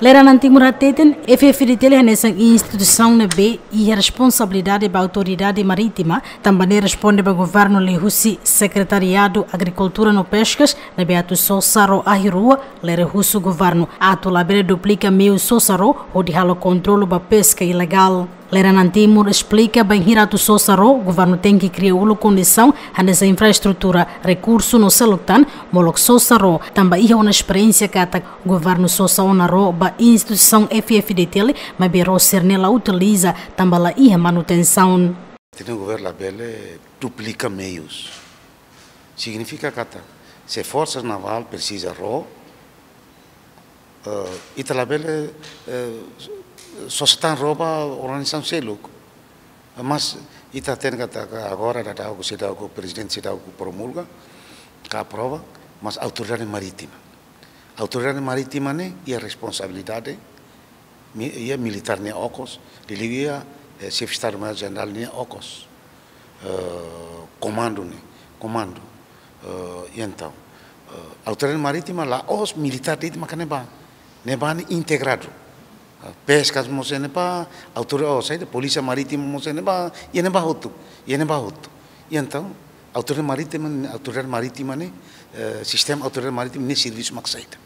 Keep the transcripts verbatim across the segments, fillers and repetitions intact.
Lera Nani Timur hateten, F F D T L hanesan instituisaun ne'ebé iha responsabilidade ba autoridade marítima, tanba ne'e responde ba governu liuhusi Sekretariadu Agrikultura no Peskas, ne'ebé atu sosa ró ahi rua, lere husu governu atu labele duplika meiu sosa ró hodi halo kontrolu ba peska ilegál. Lera Nani Timur esplika bainhira atu sosa ró, governu tenke kria uluk kondisaun hanesan infraestrutura, rekursu no seluk tan, molok sosa ró, tanba iha ona esperiénsia katak governu sosa ona ró ba instituisaun F F D T L, maibé ró sira-ne'e la utiliza, tanba la iha manutensaun. Ita-nia governu labele duplika meius. Signifika katak, se Forsa Navál presiza ró, eh, ita labele, eh, sosa tan ró ba organizasaun seluk. Mas ita hatene katak agora daudaun seidauk, prezidente seidauk promulga, ka aprova, mas autoridade marítima. Autoridade marítima ne'e iha responsabilidade, mi-, iha militár nia okos, liuliu iha, eh, Xefe Estadu Maiór Jenerál nia okos. Eh, komandu ne'e, komandu. Eh, entaun, eh, autoridade marítima la'ós militár de'it maka ne'ebá. Ne'ebá ne'e integradu. Eh, peskas mós iha ne'ebá, autoridade, oh, saida, polísia marítima mós iha ne'ebá, iha ne'ebá hotu, iha ne'ebá hotu. Entaun, autoridade marítima, autoridade marítima ne'e, eh, sistema autoridade marítima ne'e servisu mak saida.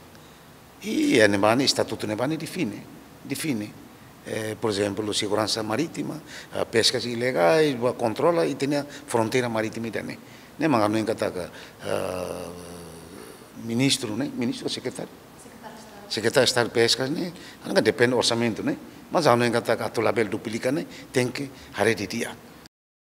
I iha ne'ebá ne'e, estatutu ne'ebá ne'e define, define. Eh, por ezemplu, seguransa marítima, eh, peskas ilegais, ba kontrola ita-nia fronteira marítima ida-ne'e. Ne'e mak hanoin katak, eh, ministru ne'e, ministru, sekretáriu? Sekretáriu Estadu Peskas ne'e, anga depende orsamentu ne'e. Mas hanoin katak atu labele duplika ne'e, tenke haree didi'ak.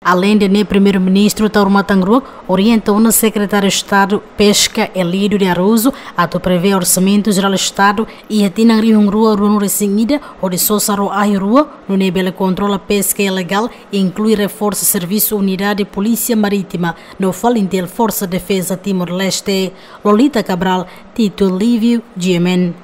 Aleinde ne'e, Primeiru-Ministru Taur Matan Ruak orienta ona Sekretáriu Estadu Peska, Elídio de Araújo, atu prevee Orsamentu Jerál Estadu iha tinan rihun rua ruanulu-resin-ida, hodi sosa ró ahi rua, nune'e bele kontrola peska ilegál, inklui reforsa servisu Unidade Polísia Marítima, no FALINTIL, Forsa Defeza Timor-Leste. Lolita Cabral, Tito Lívio, G M N.